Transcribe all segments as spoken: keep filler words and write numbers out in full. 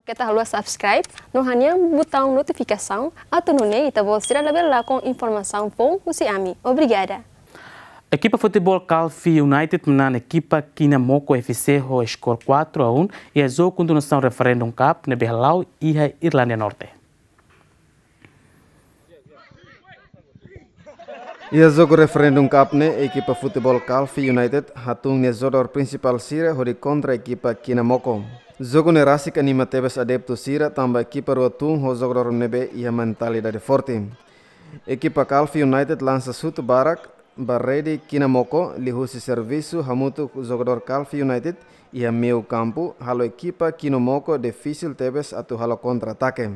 Keta haluha subscribe no hanehan butaun notifikasaun atu nune'e ita-boot sira labele lakon informasaun foun husi ami. Obrigada. Ekipa futeból Calfi United manán ekipa Kinamoko F C ho skor quatro a um iha jogu kontinuasaun Referendum Cup ne'ebé hala'o iha Irlanda Norte. Iha jogu Referendum Cup ne'e, ekipa futeból Calfi United hatún nia jogadór prinsipál sira hodi kontra ekipa Kinamoko. Jogu ne'e rasik anima tebes adeptu sira tanba ekipa rua tun ho jogadór ne'ebé iha mentalidade forte. Ekipa Calfi United lansa xutu barak ba rede Kinamoko liuhusi servisu hamutuk jogadór Calfi United iha meiu kampu, halo ekipa Kinamoko difisil tebes atu halo kontra-atake.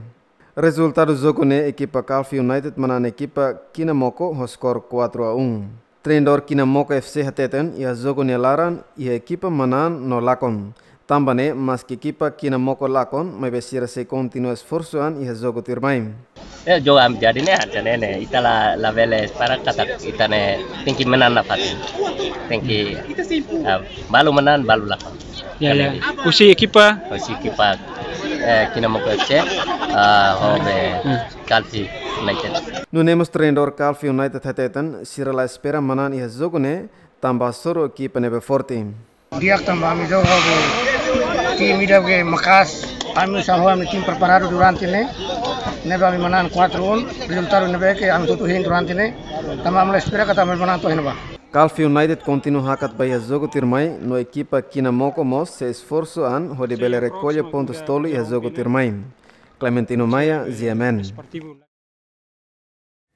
Rezultadu jogu ne'e, ekipa Calfi United manán ekipa Kinamoko ho skor quatro a um. Treinadór Kinamoko F C hateten iha jogu nia laran iha ekipa manán no lakon. Tanba ne'e, maski ekipa Kinamoko lakon, maibé sira sei kontinua esforsu an iha jogu tuirmai. Eh, jogu ami jadi ne'e, jadi ne'e, ita la, labele para katak ita ne'e tenke manán nafatin. Tenke, ah, balu manán, balu lakon. Ya, ya. Husi ekipa? Husi ekipa, eh, Kinamoko F C, ah, ho be Hmm. Calfi United. Nune'e mós treinadór Calfi United hateten, sira la espera manán iha jogu ne'e, tanba hasoru ekipa ne'ebé forte. Di'ak tanba ami jogu ho tim ida ke maka'as, ami uza ho ami tim preparadu durante ne'e, ne'ebé ami manán quatro a um, rezultadu ne'ebé ke ami tutu hein durante ne'e, tanba ami la espera katak ami manán to'o iha ne'ebá. Calfi United kontinua hakat ba iha jogu tuirmai, no ekipa Kinamoko mós sei esforsu an hodi bele rekolla pontus tolu iha jogu tuirmai. Clementino Maia, G M N.